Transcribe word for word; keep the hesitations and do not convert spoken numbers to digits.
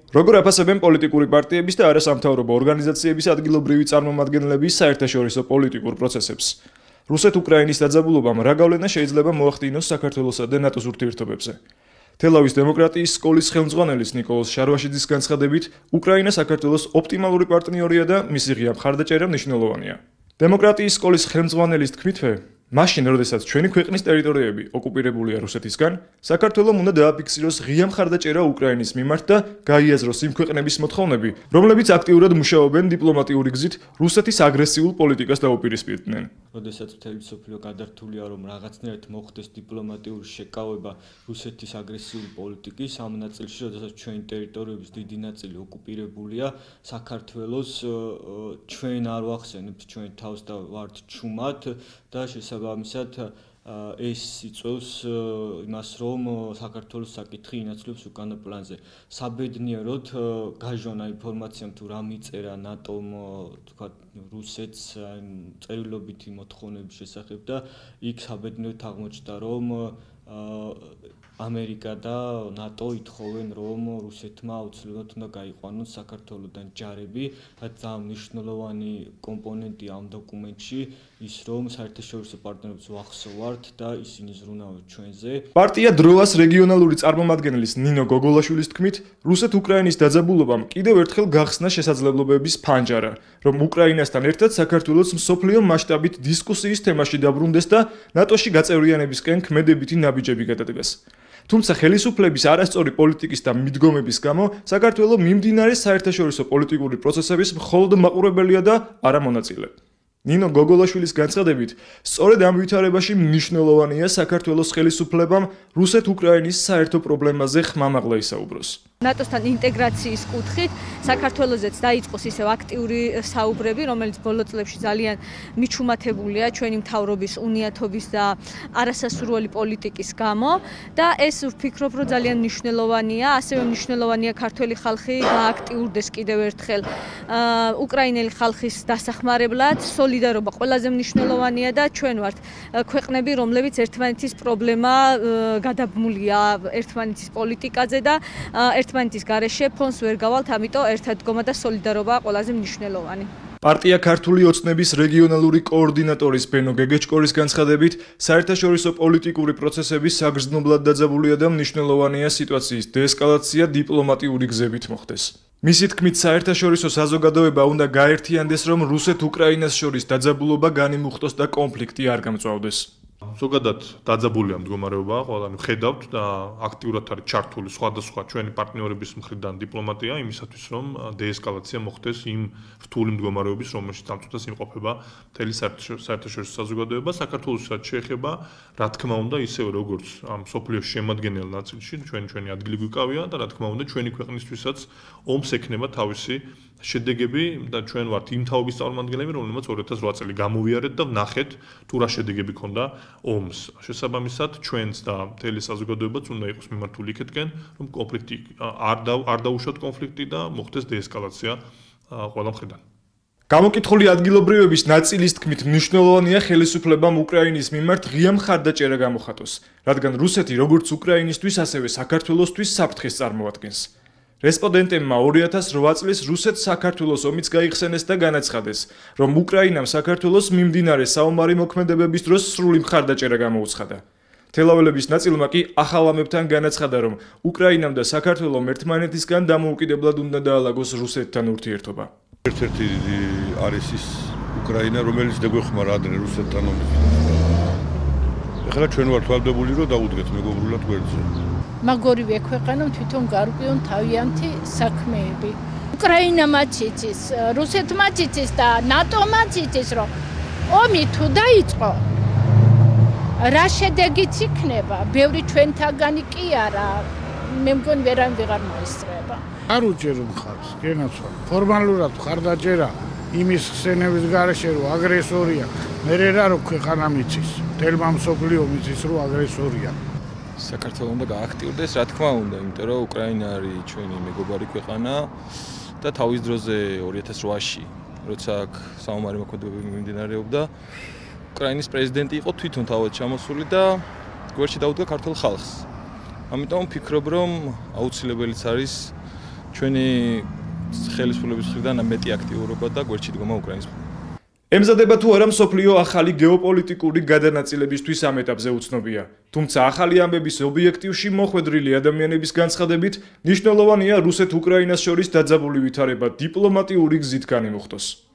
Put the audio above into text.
როგორ აფასებენ პოლიტიკური პარტიების და არასამთავრობო ორგანიზაციების ადგილობრივი წარმომადგენლების საერთაშორისო პოლიტიკურ პროცესებს? რუსეთ-უკრაინის დაძაბულობამ რა გავლენა შეიძლება მოახდინოს საქართველოსა და ნატოს ურთიერთობებზე? თელავის დემოკრატიის სკოლის ხელმძღვანელის ნიკოლოზ შარვაშიძის განცხადებით, უკრაინა საქართველოს ოპტიმალური პარტნიორია და მისი ღია მხარდაჭერა მნიშვნელოვანია. დემოკრატიის სკოლის ხელმძღვანელის თქმითვე, მაშინ, როდესაც ჩვენი ქვეყნის ტერიტორიები ოკუპირებულია რუსეთისგან, საქართველომ უნდა დააფიქსიროს ღია მხარდაჭერა უკრაინის მიმართ და გაიაზროს იმ ქვეყნების მოთხოვნები, რომლებიც აქტიურად მუშაობენ დიპლომატიური გზით რუსეთის აგრესიულ პოლიტიკას დაუპირისპირდნენ. როდესაც მთელი მსოფლიო გადართულია, რომ რაღაცნაირად მოხდეს დიპლომატიური შეკავება რუსეთის აგრესიული პოლიტიკის ამ ნაწილში, როდესაც ჩვენი ტერიტორიების დიდი ნაწილი ოკუპირებულია, საქართველოს ჩვენ არ ვახსენებთ ჩვენ თავს და ვართ ჩუმად და შესაბამისად ეს იწვევს იმას, რომ საქართველოს საკითხი ინაცვლებს უკანა პლანზე. საბედნიეროდ გაჟონა ინფორმაციამ თუ რა მიწერა ნატომ, თქვათ რუსეთს წერილობითი მოთხოვნების შესახებ და იქ საბედნიეროდ აღმოჩნდა, რომ ამერიკა და ნატო ითხოვენ, რომ რუსეთმა აუცილებლად უნდა გაიყვანონ საქართველოდან ჯარები, რაც ძალიან მნიშვნელოვანი კომპონენტია ამ დოკუმენტში, ის რომ საერთაშორისო პარტნიორებს ვახსოვართ და ისინი ზრუნავენ ჩვენზე. პარტია დროას რეგიონალური წარმომადგენლის ნინო გოგოლაშვილის თქმით, რუსეთ-უკრაინის დაძაბულობამ კიდევ ერთხელ გახსნა შესაძლებლობების ფანჯარა, რომ უკრაინასთან ერთად საქართველოს მსოფლიო მასშტაბით დისკუსიის თემაში დაბრუნდეს და ნატოში გაწევრიანებისკენ ქმედებითი ნაბიჯები გადადგეს. თუმცა ხელისუფლების არასწორი პოლიტიკის და მიდგომების გამო საქართველო მიმდინარე საერთაშორისო პოლიტიკური პროცესების მხოლოდ მაყურებელია და არა მონაწილე. ნინო გოგოლაშვილის განცხადებით, სწორედ ამ ვითარებაში მნიშვნელოვანია საქართველოს ხელისუფლებამ რუსეთ-უკრაინის საერთო პრობლემაზე ხმამაღლა ისაუბროს. ნატოსთან ინტეგრაციის კუთხით საქართველოსაც დაიწყოს ისევ აქტიური საუბრები, რომელიც ბოლო წლებში ძალიან მიჩუმათებულია ჩვენი მთავრობის უნიათობის და არასასურველი პოლიტიკის გამო და ეს ვფიქრობ, რომ ძალიან მნიშვნელოვანია, ასევე მნიშვნელოვანია ქართველი ხალხი გააქტიურდეს კიდევ ერთხელ უკრაინელი ხალხის დასახმარებლად. სოლიდარობა ყველაზე მნიშვნელოვანია და ჩვენ ვართ ქვეყნები, რომლებიც ერთმანეთის პრობლემა გადაბმულია ერთმანეთის პოლიტიკაზე და ერთმანეთის გარეშე ფონს ვერ გავალთ, ამიტომ ერთადგომა და სოლიდარობა ყველაზე მნიშვნელოვანი. პარტია ქართული ოცნების რეგიონალური კოორდინატორის ბენო გეგეჭკორის განცხადებით, საერთაშორისო პოლიტიკური პროცესები საგრძნობლად დაძაბულია და მნიშვნელოვანია სიტუაციის დეესკალაცია დიპლომატიური გზებით მოხდეს. მისი თქმით, საერთაშორისო საზოგადოება უნდა გაერთიანდეს, რომ რუსეთ-უკრაინას შორის დაძაბულობა განიმუხტოს და კონფლიქტი არ გამწვავდეს. ზოგადად დაძაბულია მდგომარეობა, ყველანი ხედავთ და აქტიურად არის ჩართული სხვადასხვა ჩვენი პარტნიორების მხრიდან დიპლომატია იმისათვის, რომ დეესკალაცია მოხდეს იმ რთული მდგომარეობის, რომელშიც წამწუთას იმყოფება მთელი საერთაშორისო საზოგადოება. საქართველოსაც შეეხება, რა თქმა უნდა, ისევე როგორც ამ სოფლიოს შემადგენელ ნაწილში ჩვენი ჩვენი ადგილი გვიკავია და რა თქმა უნდა, ჩვენი ქვეყნისთვისაც ომს ექნება თავისი შედეგები და ჩვენ ვართ იმ თაობის წარმომადგენლები, რომლებიც ორი ათას რვა წელი გამოვიარეთ და ვნახეთ თუ რა შედეგები ქონდა ომს. შესაბამისად, ჩვენც და მთელი საზოგადოებაც უნდა იყოს მიმართული იქეთკენ, რომ კონფლიქტი არ არ დაუშვათ კონფლიქტი და მოხდეს დეესკალაცია ყველა მხრიდან. გამოკითხული ადგილობრივების ნაწილის თქმით, მნიშვნელოვანია ხელისუფლებამ უკრაინის მიმართ ღია მხარდაჭერა გამოხატოს, რადგან რუსეთი როგორც უკრაინისთვის, ასევე საქართველოსთვის საფრთხეს წარმოადგენს. რესპონდენტებმა ორი ათას რვა წლის რუსეთ-საქართველოს ომიც გაიხსენეს და განაცხადეს, რომ უკრაინამ საქართველოს მიმდინარე საომარი მოქმედებების დროს სრული მხარდაჭერა გამოუცხადა. თელაველების ნაწილმა კი ახალ ამებთან განაცხადა, რომ უკრაინამ და საქართველომ ერთმანეთისგან დამოუკიდებლად უნდა დაალაგოს რუსეთთან ურთიერთობა. ერთ-ერთი არის ის უკრაინა, რომელიც დაგვეხმარა ადრე რუსეთთან ომში. ეხლა ჩვენ ვართ ვალდებული, რომ დაუდგეთ მეგობრულად გვერდზე. მაგორივე ქვეყანა თვითონ გარკვეულ თავიანთი საქმეები. უკრაინამაც იცის, რუსეთმაც იცის და ნატომაც იცის, რომ ომი თუ დაიწყო, რა შედეგიც იქნება, ბევრი ჩვენთაგანი კი არა, მე მგონი ვერან ვეღარ მოისწრება. არ უჭერო მხარს, გენაცვალ. ფორმალურად მხარდაჭერა იმის ხსენების გარეშე, რომ აგრესორია, მე რა რო ქვეყანა მიცის, თელმა მსოფლიო მიცის, რომ აგრესორია. საქართველოს უნდა გააქტიურდეს, რა თქმა უნდა, იმიტომ რომ უკრაინა არის ჩვენი მეგობარი ქვეყანა და თავის დროზე ორი ათას რვაში, როცა აქ საომარი მოქმედებები მიმდინარეობდა, უკრაინის პრეზიდენტი იყო თვითონ თავად ჩამოსული და გვერდში დაუდგა ქართულ ხალხს. ამიტომ ვფიქრობ, რომ აუცილებელიც არის ჩვენი ხელისუფლების მხრიდან მეტი აქტიურობა და გვერდში დგომა უკრაინის. ემზადება თუ არა მსოფლიო ახალი გეოპოლიტიკური გადანაწილებისთვის ამ ეტაპზე უცნობია. თუმცა ახალი ამბების ობიექტივში მოხვედრილი ადამიანების განცხადებით მნიშვნელოვანია რუსეთ-უკრაინას შორის დაძაბული ვითარება დიპლომატიური გზით განიმუხტოს.